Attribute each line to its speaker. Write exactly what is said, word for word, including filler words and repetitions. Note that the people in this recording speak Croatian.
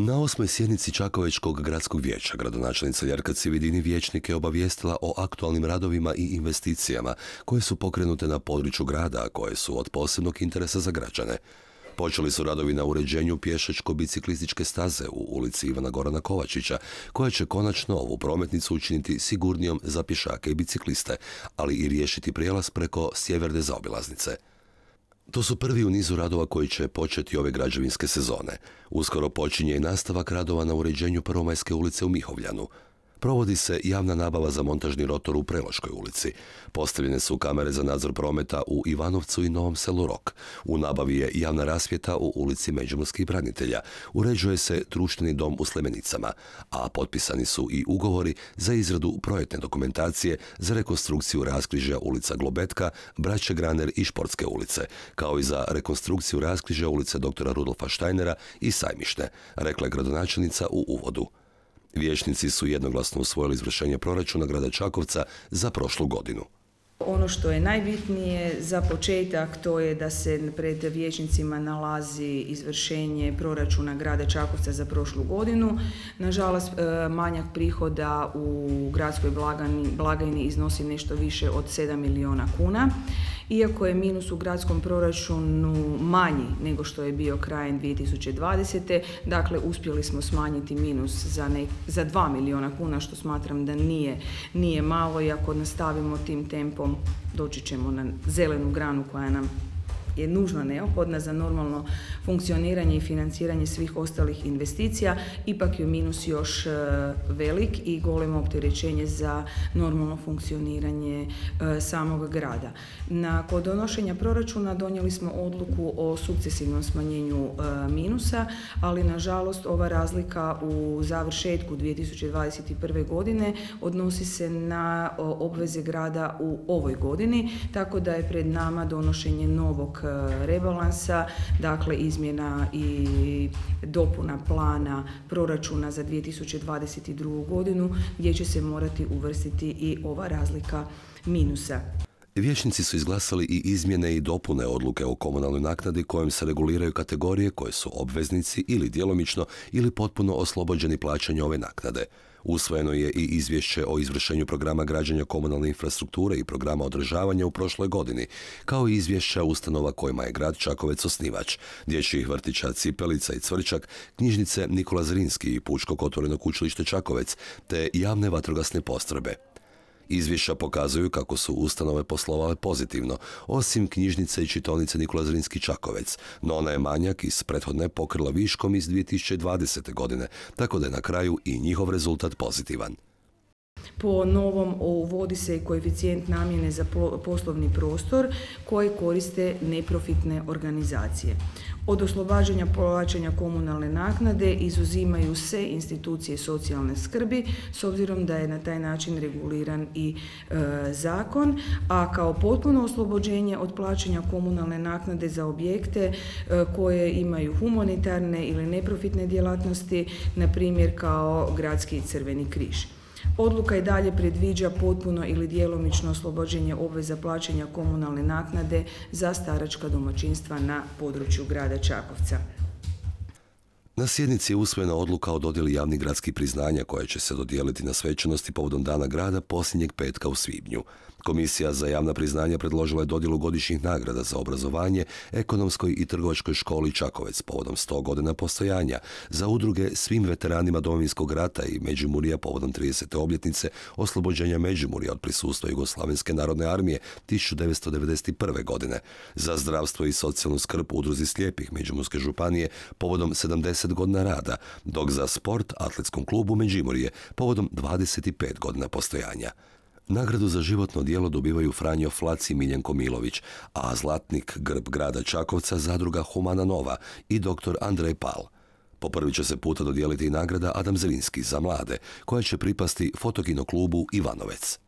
Speaker 1: Na osmoj sjednici Čakovečkog gradskog vijeća gradonačelnica Ljerka Cividini vijećnike obavijestila o aktualnim radovima i investicijama koje su pokrenute na području grada, a koje su od posebnog interesa za građane. Počeli su radovi na uređenju pješačko-biciklističke staze u ulici Ivana Gorana Kovačića, koja će konačno ovu prometnicu učiniti sigurnijom za pješake i bicikliste, ali i riješiti prijelaz preko sjeverne zaobilaznice. To su prvi u nizu radova koji će početi ove građevinske sezone. Uskoro počinje i nastavak radova na uređenju Prvomajske ulice u Mihovljanu. Provodi se javna nabava za montažni rotor u Preloškoj ulici. Postavljene su kamere za nadzor prometa u Ivanovcu i Novom selu Rok. U nabavi je javna rasvjeta u ulici Međimurskih branitelja. Uređuje se društveni dom u Slemenicama, a potpisani su i ugovori za izradu projektne dokumentacije za rekonstrukciju raskrižja ulica Globetka, Braće Graner i Športske ulice, kao i za rekonstrukciju raskrižja ulice doktora Rudolfa Štajnera i Sajmišne, rekla je gradonačelnica u uvodu. Vijećnici su jednoglasno usvojili izvršenje proračuna grada Čakovca za prošlu godinu.
Speaker 2: Ono što je najbitnije za početak, to je da se pred vijećnicima nalazi izvršenje proračuna grada Čakovca za prošlu godinu. Nažalost, manjak prihoda u gradskoj blagajni iznosi nešto više od sedam milijuna kuna. Iako je minus u gradskom proračunu manji nego što je bio krajem dvije tisuće dvadesete. Dakle, uspjeli smo smanjiti minus za, ne, za dva milijuna kuna, što smatram da nije, nije malo, i ako nastavimo tim tempom doći ćemo na zelenu granu koja nam je nužno neophodna za normalno funkcioniranje i financiranje svih ostalih investicija. Ipak je minus još velik i golemo opterećenje za normalno funkcioniranje samog grada. Nakon donošenja proračuna donijeli smo odluku o sukcesivnom smanjenju minusa, ali nažalost ova razlika u završetku dvije tisuće dvadeset prve. godine odnosi se na obveze grada u ovoj godini, tako da je pred nama donošenje novog rebalansa, dakle izmjena i dopuna plana proračuna za dvije tisuće dvadeset drugu. godinu, gdje će se morati uvrstiti i ova razlika minusa.
Speaker 1: Vijećnici su izglasali i izmjene i dopune odluke o komunalnoj naknadi kojom se reguliraju kategorije koje su obveznici ili djelomično ili potpuno oslobođeni plaćanja ove naknade. Usvojeno je i izvješće o izvršenju programa građenja komunalne infrastrukture i programa održavanja u prošloj godini, kao i izvješća ustanova kojima je grad Čakovec osnivač, dječjih vrtića Cipelica i Cvrčak, knjižnice Nikola Zrinski i Pučkog otvorenog učilište Čakovec, te javne vatrogasne postrojbe. Izvješća pokazuju kako su ustanove poslovale pozitivno, osim knjižnice i čitaonice Nikola Zrinski Čakovec, no ona je manjak iz prethodne pokrila viškom iz dvije tisuće dvadesete. godine, tako da je na kraju i njihov rezultat pozitivan.
Speaker 2: Po novom uvodi se i koeficijent namjene za poslovni prostor koji koriste neprofitne organizacije. Od oslobađanja plaćanja komunalne naknade izuzimaju se institucije socijalne skrbi, s obzirom da je na taj način reguliran i e, zakon, a kao potpuno oslobođenje od plaćanja komunalne naknade za objekte e, koje imaju humanitarne ili neprofitne djelatnosti, na primjer kao Gradski Crveni križ. Odluka i dalje predviđa potpuno ili djelomično oslobođenje obveza plaćanja komunalne naknade za staračka domaćinstva na području grada Čakovca.
Speaker 1: Na sjednici je usvojena odluka o dodjeli javnih gradskih priznanja koja će se dodijeliti na svečanosti povodom Dana grada posljednjeg petka u svibnju. Komisija za javna priznanja predložila je dodjelu godišnjih nagrada za obrazovanje Ekonomskoj i trgovačkoj školi Čakovec povodom sto godina postojanja, za udruge svim veteranima Domovinskog rata i Međimurja povodom tridesete obljetnice oslobođenja Međimurja od prisustva Jugoslavenske narodne armije tisuću devetsto devedeset prve. godine, za zdravstvo i socijalnu skrb udruzi slijepih Međimurske županije povodom sedamdeset godina rada, dok za sport Atletskom klubu Međimurje povodom dvadeset pet godina postojanja. Nagradu za životno djelo dobivaju Franjo Flac i Miljenko Milović, a zlatnik grb grada Čakovca zadruga Humana Nova i doktor Andrej Pal. Po prvi će se puta dodijeliti i nagrada Adam Zrinski za mlade, koja će pripasti Fotokino klubu Ivanovec.